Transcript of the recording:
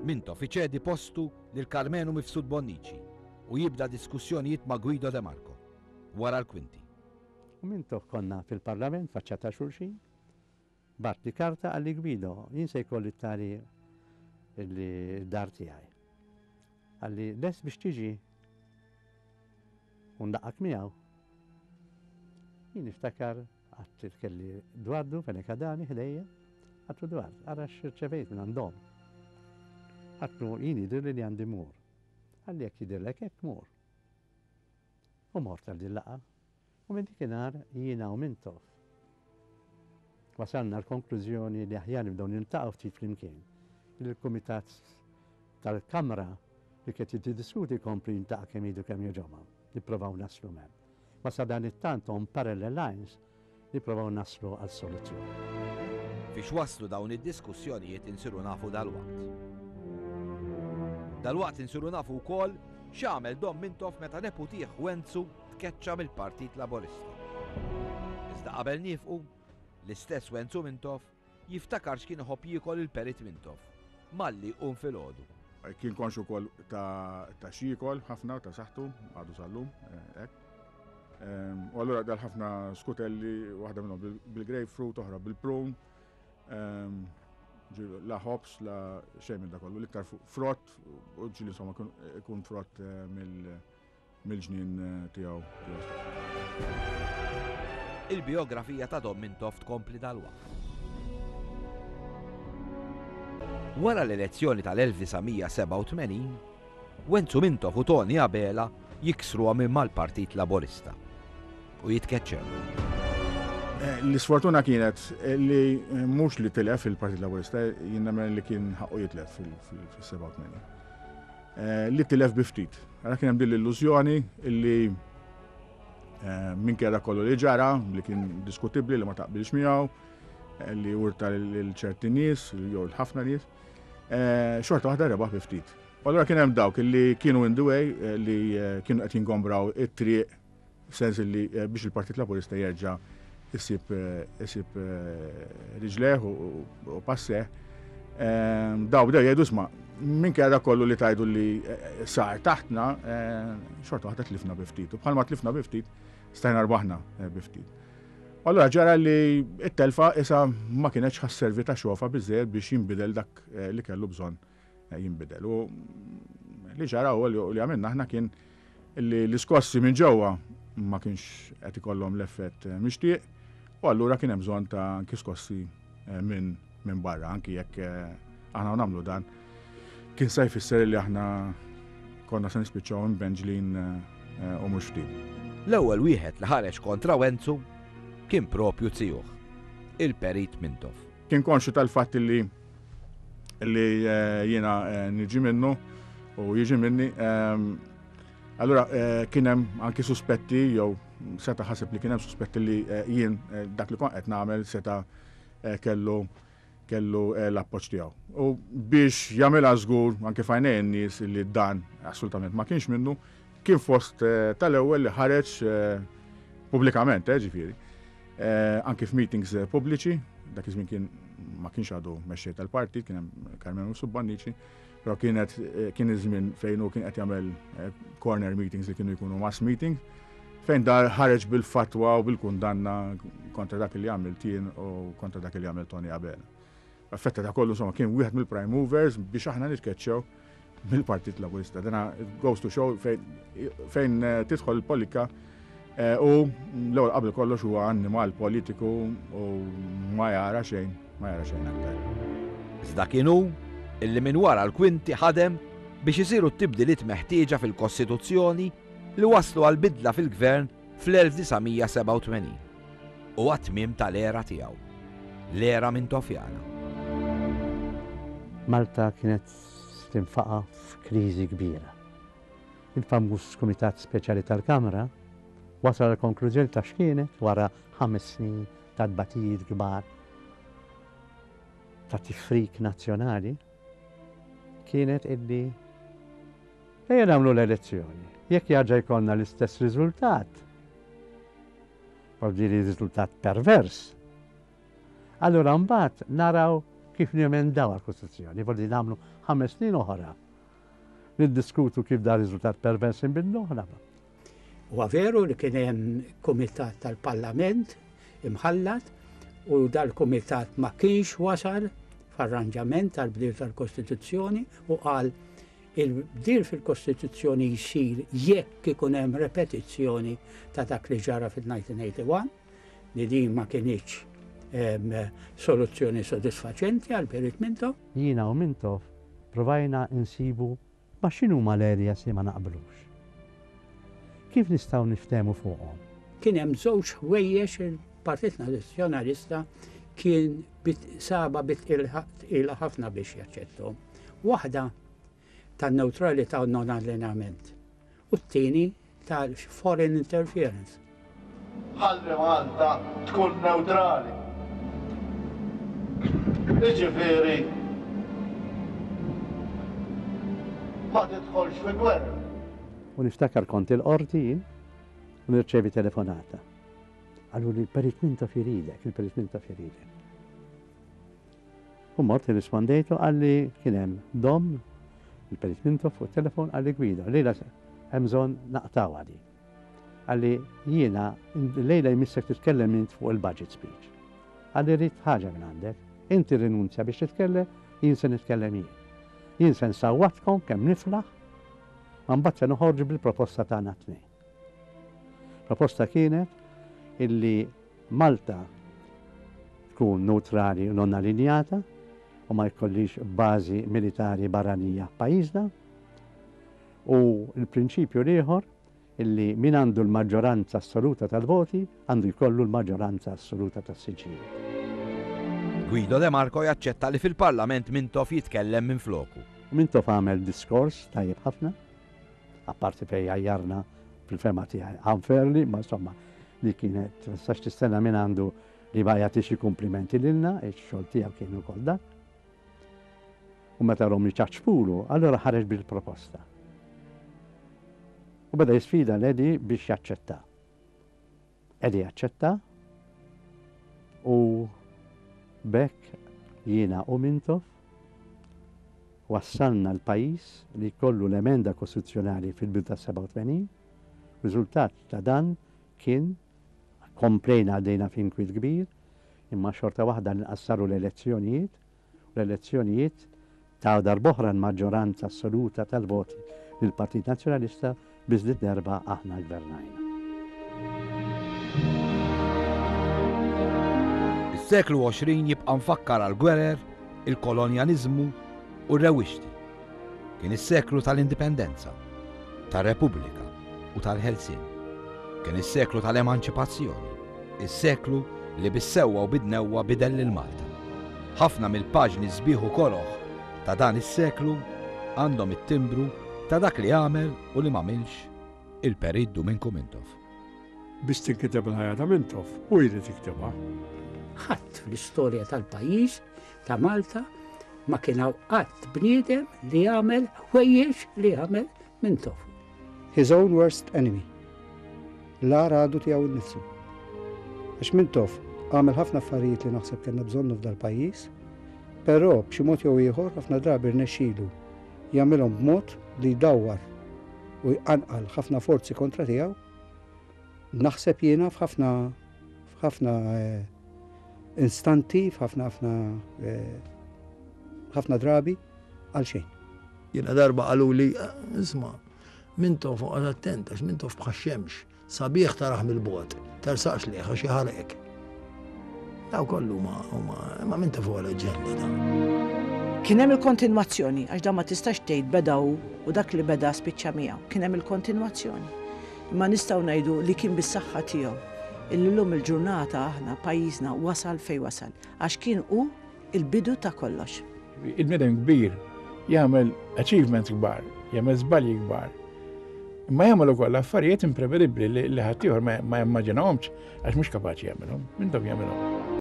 Mintoff iċedi postu lil Karmenu Mifsud Bonnici u jibda diskussjonijiet ma' Guido De Marco, wara l-kwinti. U Mintoff konna fil-Parlament faċċata xulxin, bagħatli karta qalli Guido, jien se jkolli t-tali d-dar tiegħi. Qalli lest biex tiġi u nlaqqgħek miegħu. Jien niftakar Għadt kelli Dwardu Fenech Adami ħdejja, għadtlu Dward, ara x'irċevejt minn għandhom. Għadtlu jien jidhirli li għandi mmur. Qalli jekk jidhirlek hekk mur. U mort għal din laqgħa. U minn dikinhar jiena u Mintoff wasalna l-konklużjoni li aħjar nibdew niltaqgħu ftit flimkien. Il-Kumitat tal-Kamra li kien qed jiddiskuti jkompli jiltaqa' kemm idu kemm jogħġobha. Nipprovaw naslu hemm. Ma sadanittant on parallel lines nipprovaw naslu għal soluzzjoni. Fiex waslu dawn id-diskussjonijiet insiru nafu dalwaqt. Dalwaqt insiru nafu wkoll x'għamel Dom Mintoff meta neputih Wenzu tkeċċa mill-Partit Laburista. Iżda qabel niefqu, l-istess Wenzu Mintoff Jiftakar x'kien iħobb jiekol il-Perit Mintoff malli jqum filgħodu. Kien konxju wkoll ta' x'jiekol ħafna, ta' saħħtu, għadu sal-lum, hekk. U allura dal ħafna skutelli, waħda minnhom bil-grapefruit, oħra bil-prune, la ħobs, la xejn minn da kollu, l-iktar frott, u ġieli insomma ikun frott mill- mill-ġnien tiegħu tiegħu stess. Il-bijografija ta' Dom Mintoff tkompli dalwaqt. Wara l-elezzjoni tal-1987, Wenzu Mintoff u Tony Abela jiksruha minn mal-Partit Laburista u jitkeċċew. Eh, l-isfortuna kienet li eh, mhux li tilef il-Partit Laburista, jien nemmen li kien ħaqqu jitlef fil-87. Li tilef bi ftit. Għara kien hemm din l-illużjoni illi eh, minkejja dak kollu li ġara, li kien diskutibbli li ma taqbilx miegħu, eh, li urta lil ċerti nies, jew l-ħafna nies, eh, xorta waħda rebaħ bi ftit. U allura kien hemm dawk li kienu in the way li kienu qed jingombraw it-triq F'sens li biex il-Partit Laburista jerġa' isib isib riġleh u passeh, daw bdew jgħidu isma' minkejja dak kollu li tgħidu li sar taħtna, xorta waħda tlifna bi ftit. U bħalma tlifna bi ftit, stajna rbaħna bi ftit. Allura ġara li t-telfa isa ma kienetx ħasservi ta' xofa biżżejjed biex jinbidel dak li kellu bżonn jinbidel. U li ġara u li għamilna aħna kien li l-iskossi minn ġewwa ma kienx qed ikollhom l-effett eh, mixtieq u allura kien hemm bżonn ta' anki skossi eh, minn min barra, anki jekk eh, aħna nagħmlu dan kien se jfisser li aħna konna se nispiċċaw imbenġlin u mhux ftit. L-ewwel wieħed li ħareġ kontra Wenzu kien propju zijuh, il-Perit Mintoff. Kien konxju tal-fatt li li eh, jiena eh, niġi minnu u jiġi minni. Ehm, allura eh, kien hemm anki suspetti jew seta' ħaseb li kien hemm suspetti li jien dak li kont qed nagħmel seta' kellu kellu l-appoġġ tiegħu. U biex jagħmilha żgur anke f'għajnejn in-nies li dan assolutament ma kienx minnu, kien fost tal-ewwel li ħareġ pubblikament, ġifieri, Anki f'meetings pubbliċi, dak iż-żmien kien ma kienx għadu mexxej tal-partit, kien hemm Carmelo Subbannici, però kienet kien iż-żmien fejn hu kien qed jagħmel corner meetings li kienu jkunu mass meetings, fejn dar ħareġ bil-fatwa u bil-kundanna kontra dak li għamilt jien u kontra dak li għamel Tony Abela. Effetta ta' kollu insomma kien wieħed mill-prime movers biex aħna nitkeċċew mill-Partit Laburista. Dana goes to show fejn eh, tidħol il-politika eh, u l-ewwel qabel kollox huwa annimal politiku u ma jara xejn, ma jara xejn aktar. Iżda kien hu illi minn wara l-kwinti ħadem biex isiru t-tibdiliet meħtieġa fil-Kostituzzjoni li wasslu għal bidla fil-Gvern fl-1987 u għat-tmiem tal-era tiegħu, l-era Mintofjana. Malta kienet tinfaqa' f'kriżi kbira. Il-famuż Kumitat Speċjali tal-Kamra wasal għall-konklużjoni ta' x'kienet wara ħames snin ta' tbatijiet kbar ta' tifrik nazzjonali kienet illi Ejja nagħmlu l-elezzjoni. Jekk jarġa' jkollna l-istess riżultat, voldiri riżultat pervers, allura mbagħad naraw kif nemendaw għall-Kostituzzjoni, vordi nagħmlu ħames snin oħra niddiskutu kif da riżultat pervers inbidluh nagħmlu. Huwa veru li kien hemm kumitat tal-Parlament imħallat u dal-kumitat ma kienx wasal f'arranġament tal-bdil tal-Kostituzzjoni u qal il-bdil fil-Kostituzzjoni jsir jekk ikun hemm repetizzjoni ta' dak li ġara fil-1981 li din ma kinitx soluzzjoni sodisfaċenti għal Perit Mintoff. Jiena u Mintoff provajna insibu ma x'inhuma l-areas li ma naqblux. Kif nistgħu niftehmu fuqhom? Kien hemm żewġ ħwejjeġ il-Partit Nazzjonalista kien saba bi tqila ħafna biex jaċċetthom. Waħda tan-newtralità u non-allineament u t-tieni tal-foreign interference. Ħalli Malta tkun newtrali. Jiġifieri ma tidħolx fi gwerra. U niftakar kont il-qorti jien u nirċevi telefonata. Qaluli l-Perit Mintoff iridek, il-Perit Mintoff iridek. U mort irrispondejtu qalli kien hemm Dom, il-Perit Mintoff fuq it-telefon qalli Guido, llejla hemm bżonn naqtgħuha din. Qalli jiena llejla jmissek titkellem int fuq il-budget speech. Qalli rrid ħaġa minn għandek, inti rrinunzja biex titkellem, jien se nitkellem jien. Jien se nsawwatkom kemm niflaħ, ma mbagħad se noħorġu bil-proposta tagħna t-tnejn. Proposta kienet illi Malta tkun newtrali u non allinjata u ma jkollhiex bażi militari barranija f'pajjiżna u l-prinċipju l-ieħor illi min għandu l-maġġoranza assoluta tal-voti għandu jkollu l-maġġoranza assoluta tas-siġġijiet. Guido De Marco jaċċetta li fil-Parlament Mintoff jitkellem minfloku. Mintoff għamel diskors tajjeb ħafna. Apparti fejn għajjarna fil-fehma tiegħi unfairly, ma insomma li kienet ma tistax tistenna minn għandu li ma jagħtix xi kumplimenti lilna, ix-xogħol tiegħu kien ukoll dak. U meta rom iċaċpulu, allura ħareġ bil-proposta. U beda jisfida l-Eddie biex jaċċetta. Eddie aċċetta u b'hekk jiena u Mintoff wassalna l-pajjiż li jkollu l-emenda kostituzzjonali fil-bidu tas-87. Riżultat ta' dan kien komplejna għaddejna f'inkwiet kbir, imma xorta waħda nqassaru l-elezzjonijiet u l-elezzjonijiet taw darb'oħra l-maġġoranza assoluta tal-voti lill-Partit Nazzjonalista biss did-darba aħna ggvernajna. Is-seklu 20 jibqa' mfakkar għall-gwerer, il-kolonjaliżmu u r-rewwixti. Kien is-seklu tal-Indipendenza, tar-Repubblika u tal-Ħelsien. Kien is-seklu tal-Emanċipazzjoni, is-seklu li bis-sewwa u bid-dnewwa bidel lil Malta. Ħafna mill-paġni sbieħ u koroh ta' dan is-seklu għandhom it-timbru ta' dak li għamel u li m'għamilx il-Perit Duminku Mintoff. Biex tinkiteb il-ħajja ta' Mintoff, hu jrid jiktibha. Ħadd fl-istorja tal-pajjiż ta' Malta ma kien hawn qatt bniedem li għamel ħwejjeġ li għamel Mintoff. His own worst enemy. L-agħar għadu tiegħu nnifsu. Għax Mintoff għamel ħafna affarijiet li naħseb kellna bżonnu f'dal-pajjiż, però b'xi mod jew ieħor ħafna drabi rnexxilu jagħmilhom b'mod li jdawwar u jqanqal ħafna forzi kontra tiegħu, naħseb jiena f'ħafna f'ħafna eh, instanti, f'ħafna ħafna eh, ħafna drabi għal xejn. Jiena darba qaluli, isma' Mintoff oqgħod attent għax Mintoff bħax-xemx, sabiħ tarah mill-bogħod, tersaqx lejh għax jaħarqek. Daw kollu ma huma imma Mintoff huwa leġġenda ta. Kien hemm il-kontinwazzjoni għax dan ma tistax tgħid beda hu u dak li beda spiċċa miegħu. Kien hemm il-kontinwazzjoni. Imma nistgħu ngħidu li kien bis-saħħa tiegħu illi llum il-ġurnata aħna pajjiżna wasal fejn wasal għax kien hu il-bidu ta' kollox. Il-bniedem kbir jagħmel achievements kbar, jagħmel żbalji kbar. Imma jagħmel ukoll affarijiet imprevedibbli li ħaddieħor ma jimmaġinahomx għax mhux kapaċi jagħmilhom, mintom jagħmilhom.